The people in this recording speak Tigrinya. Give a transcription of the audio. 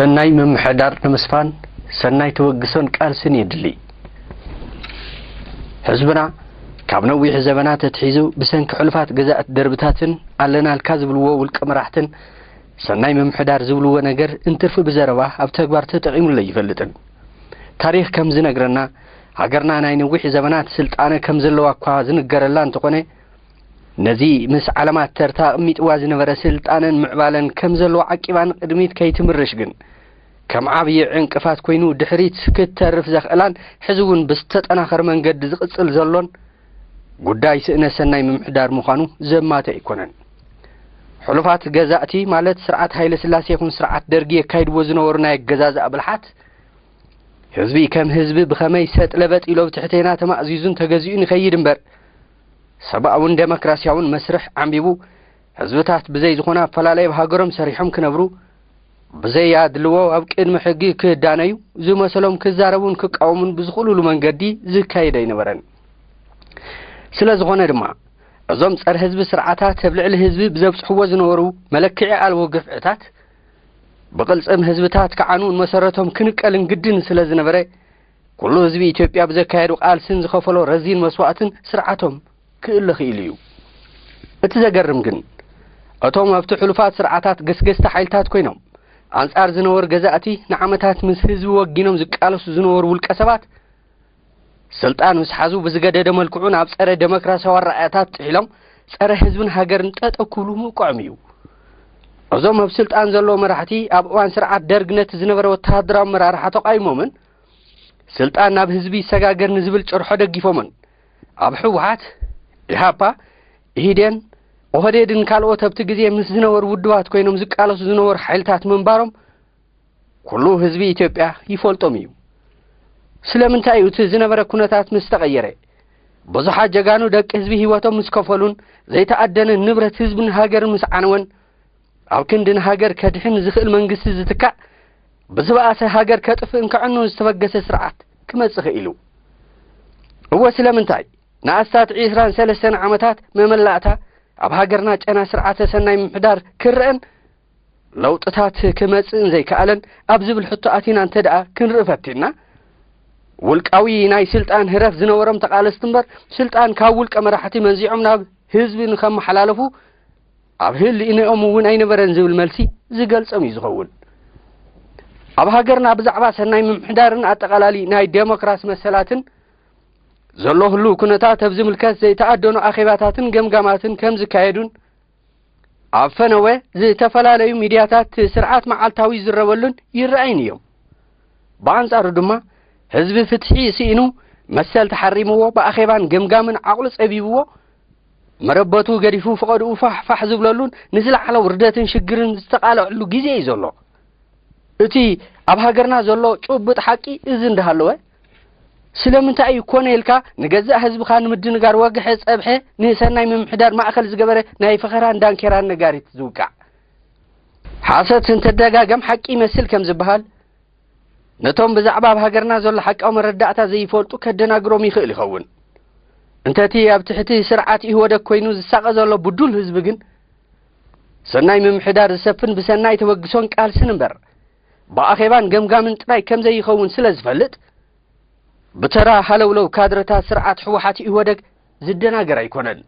ሰናይ ምምሕዳር ንምስፋን ሰናይ ተበግሶን ቃልስን የድሊ። ህዝብና ካብ ነዊሕ ዘበናት ኣትሒዙ ብሰንኪ ሕሉፋት ገዛእቲ ደርብታትን ኣለናልካ ዝብልዎ ውልቀ መራሕትን ሰናይ ምምሕዳር ዝብልዎ ነገር እንትርፊ ብዘረባ ኣብ ተግባር ተጠቒሙሉ ኣይፈልጥን። ታሪኽ ከም ዝነግረና፣ ሃገርና ናይ ነዊሕ ዘበናት ስልጣነ ከም ዘለዋ እኳ ዝንገረላ እንተኾነ፣ ነዚ ምስ ዓለማት ተርታ ኣቕሚጥዋ ዝነበረ ስልጣነን ምዕባለን ከም ዘለዎ ዓቂባ ንቕድሚት ከይትምርሽ ግን፣ ከም ዓብዪ ዕንቅፋት ኮይኑ ድሕሪት ክትተርፍ ዘኽእላን ሕዚ እውን ብዝተጠናኸረ መንገዲ ዝቕጽል ዘሎን ጉዳይ ስእነ ሰናይ ምምሕዳር ምዃኑ ዘማተ ኣይኮነን። ሕሉፋት ገዛእቲ ማለት ስርዓት ሃይለ ስላሴ ይኹን ስርዓት ደርጊ የካይድዎ ዝነበሩ ናይ ኣገዛዝኣ ብልሓት፣ ህዝቢ ከም ህዝቢ ብኸመይ ሰጥ ለበጥ ኢሎ ኣብ ትሕቴና ተማእዚዙን ተገዚኡን ይኸይድ እምበር፣ ሰብኣውን ደሞክራሲያውን መስርሕ ዓንቢቡ፣ ህዝብታት ብዘይ ዝኾነ ኣፈላለይ ኣብ ሃገሮም ሰሪሖም ክነብሩ፣ ብዘይ ኣድልዎ ኣብ ቅድሚ ሕጊ ክዳነዩ፣ ዝመሰሎም ክዛረቡን ክቃወሙን ብዝኽእሉሉ መንገዲ ዝካየድ ኣይነበረን። ስለ ዝኾነ ድማ፣ እዞም ጸረ ህዝቢ ስርዓታት ኣብ ልዕሊ ህዝቢ ብዘብጽሕዎ ዝነበሩ መለክዒ ኣልቦ ግፍዕታት፣ ብቕልጽም ህዝብታት ክዓኑን መሰረቶም ክንቀልን ግድን ስለ ዝነበረ፣ ኩሉ ህዝቢ ኢትዮጵያ ብዘካየዱ ቃልስን ዝኸፈሎ ረዚን መስዋእትን ስርዓቶም ክእለ ክኢሉ እዩ። እቲ ዘገርም ግን፣ እቶም ኣብቲ ሕሉፋት ስርዓታት ገስገስቲ ሓይልታት ኮይኖም፣ ኣንጻር ዝነበሩ ገዛእቲ ንዓመታት ምስ ህዝቢ ወጊኖም ዝቃለሱ ዝነበሩ ውልቀ ሰባት፣ ስልጣን ምስ ሓዙ ብዝገደደ መልክዑ ናብ ጸረ ደሞክራሲያዊ ኣረኣእያታት ጥሒሎም፣ ጸረ ህዝብን ሃገርን ጠጠው ክብሉ ምብቅዖም እዩ። እዞም ኣብ ስልጣን ዘለዉ መራሕቲ፣ ኣብ እዋን ስርዓት ደርግ ነቲ ዝነበረ ወተሃደራዊ ኣመራርሓ ተቓዊሞምን፣ ስልጣን ናብ ህዝቢ ይሰጋገር ንዝብል ጭርሖ ደጊፎምን፣ ኣብ ህወሓት፣ ኢሃፓ፣ ኢህዴን፣ ኦህዴድን ካልኦት ኣብቲ ግዜ ምስ ዝነበሩ ውድባት ኮይኖም ዝቃለሱ ዝነበሩ ሓይልታት ምንባሮም ኩሉ ህዝቢ ኢትዮጵያ ይፈልጦም እዩ። ስለምንታይ እዩ እቲ ዝነበረ ኩነታት ምስ ተቐየረ፣ ብዙሓት ጀጋኑ ደቂ ህዝቢ ህይወቶም ምስ ከፈሉን ዘይተኣደነ ንብረት ህዝብን ሃገርን ምስ ዓነወን፣ ኣብ ክንዲ ንሃገር ከድሕን ዝኽእል መንግስቲ ዝትካእ፣ ብዝበኣሰ ሃገር ከጥፍእን ከዕኑን ዝተበገሰ ስርዓት ክመጽእ ክኢሉ? እወ፣ ስለምንታይ ንኣስታት ዒስራን ሰለስተን ዓመታት መመላእታ ኣብ ሃገርና ጨና ስርዓተ ሰናይ ምምሕዳር ክረአን ለውጥታት ክመጽእን ዘይከኣለን ኣብ ዝብል ሕቶ ኣቲና እንተ ደኣ ክንርኢ ፈቲንና፣ ውልቃዊ ናይ ስልጣን ህረፍ ዝነበሮም ተቓለስቲ እምበር፣ ስልጣን ካብ ውልቀ መራሕቲ መንዚዖም ናብ ህዝቢ ንኸመሓላለፉ ኣብ ህልይንኦም እውን ኣይነበረን ዝብል መልሲ ዝገልጾም እዩ ዝኸውን። ኣብ ሃገርና ብዛዕባ ሰናይ ምምሕዳርን ኣጠቓላሊ ናይ ዴሞክራሲ መሰላትን ዘሎ ህሉው ኩነታት ኣብ ዝምልከት ዘይተኣደኑ ኣኼባታትን ገምጋማትን ከም ዝካየዱን ኣብ ፈነወ ዝተፈላለዩ ሚድያታት ስርዓት መዓልታዊ ዝረበሉን ይረኣይን እዮም። ብኣንጻሩ ድማ ህዝቢ ፍትሒ ስኢኑ መሰል ተሓሪምዎ ብኣኼባን ገምጋምን ዓቕሉ ጸቢብዎ መረበቱ ገዲፉ ፈቐድኡ ፋሕ ፋሕ ዝብለሉን ንዝለዓለ ውርደትን ሽግርን ዝተቓልዐሉ ግዜ እዩ ዘሎ። እቲ ኣብ ሃገርና ዘሎ ጭቡጥ ሓቂ እዚ እንዳሃለወ፣ ስለምንታይ እዩ ኮነ ኢልካ ንገዛእ ህዝብኻ ንምድንጋር ወግሐ ጸብሐ ንሰናይ ምምሕዳር ማእከል ዝገበረ ናይ ፈኸራን ዳንኬራን ነጋሪት ዝውቃዕ? ሓሰት እንተደጋገም ሓቂ ይመስል ከም ዝበሃል፣ ነቶም ብዛዕባ ኣብ ሃገርና ዘሎ ሓቃዊ መረዳእታ ዘይፈልጡ ከደናግሮም ይኽእል ይኸውን። እንተቲ ኣብ ትሕቲ ስርዓት ኢህወደግ ኮይኑ ዝሳቐ ዘሎ ብዱል ህዝቢ ግን፣ ሰናይ ምምሕዳር ዝሰፍን ብሰናይ ተበግሶን ቃልስን እምበር፣ ብኣኼባን ገምጋምን ጥራይ ከም ዘይኸውን ስለ ዝፈልጥ፣ ብተራ ሃለውለው ካድረታት ስርዓት ህወሓት ኢህወደግ ዝደናገር ኣይኮነን።